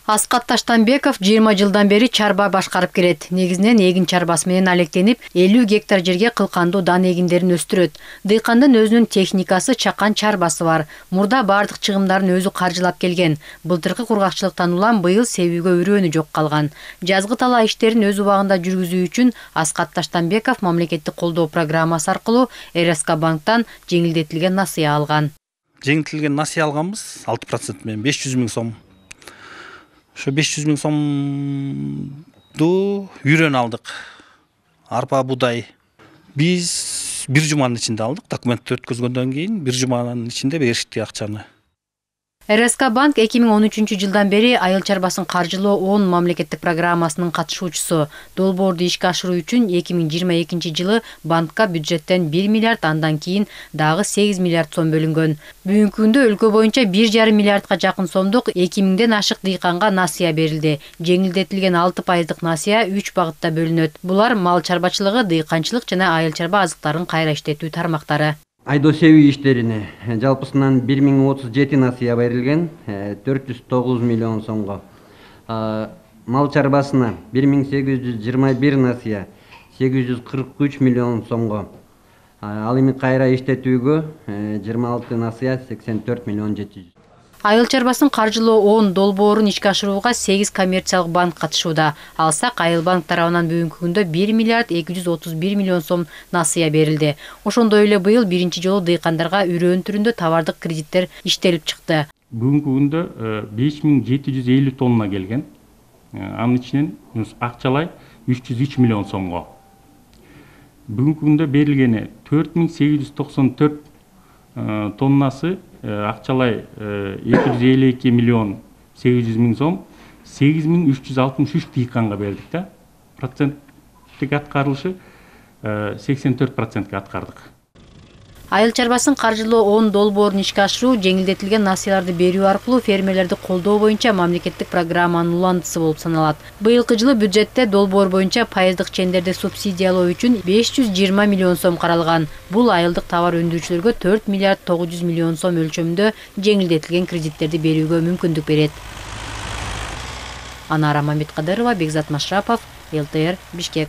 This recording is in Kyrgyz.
Аскат Таштанбеков 20 жылдан бери чарба башкарып келет. Негизинен эгин чарбасы менен алектенип, 50 гектар жерге кылкандуу дан эгиндерин өстүрөт. Дыйкандын өзүнүн техникасы, чакан чарбасы бар. Мурда бардык чыгымдарын өзү каржылап келген. Былтыркы кургакчылыктан улам быйыл себүүгө үрөөнү жок калган. Жазгы талаа иштерин өз убагында жүргүзүү үчүн Аскат Таштанбеков мамлекеттик колдоо программасы аркылуу РСК банктан жеңилдетилген насыя алган. Жеңилдетилген насыя алганбыз 6% менен 500 000 сом. Ошо 500 000 сомду үйрөн алдык. Арпа, будай. Биз бир жуманын ичинде алдык. Документти өткөзгөндөн кийин бир жуманын ичинде беришти акчаны. РСК банк 2013 жылдан бери айыл чарбасын каржылоо 10 мамлекеттик программасынын катышуучусу. Долбоорду ишке ашыруу үчүн 2022 жылы банкка бюджеттен 1 миллиард, андан кийин дагы 8 миллиард сом бөлүнгөн. Бүгүнкү күндө өлкө боюнча 1,5 миллиардга жакын сомдук 2000ден ашык дыйканга насыя берилди. Жеңилдетилген 6% насыя 3 багытта бөлүнөт. Булар мал чарбачылыгы, дыйканчылык жана айыл чарба азыктарын кайра иштетүү тармактары. Айдоо себүү иштерине жалпысынан 1037 насыя берилген, 409 миллион сомго. Мал чарбасына 1821 насыя, 843 миллион сомго. Ал эми кайра иштетүүгө 26 насыя, 84 миллион 700. Айыл чарбасын каржылоо 10 долбоорун ишке ашырууга 8 коммерциялык банк катышууда. Алсак айыл банк тарабынан бүгүнкү күндө 1 миллиард 231 миллион сом насыя берилди. Ошондой эле быйыл биринчи жолу дыйкандарга үрөөн түрүндө товардык кредиттер иштелип чыкты. Бүгүнкү күндө 5750 тонна келген. Анын ичинен акчалай 303 миллион сомго. Бүгүнкү күндө берилгени 4894 тоннасы акчалай 252 миллион 800 миң сом, 8363 дыйканга бердик да. Проценттик аткарылышы 84%га аткардык. Айыл чарбасын каржылоо 10 долбоорун ишке ашыруу жеңилдетилген насыяларды берүү аркылуу фермерлерди колдоо боюнча мамлекеттик программанын уландысы болуп саналат. Быйылкы жылы бюджетте долбоор боюнча пайыздык чендерди субсидиялоо үчүн 520 миллион сом каралган. Бул айылдык товар өндүрүүчүлөргө 4 миллиард 900 миллион сом өлчөмүндө жеңилдетилген кредиттерди берүүгө мүмкүндүк берет. Анара Мамедкадырова, Бекзат Машрапов, ЛТР, Бишкек.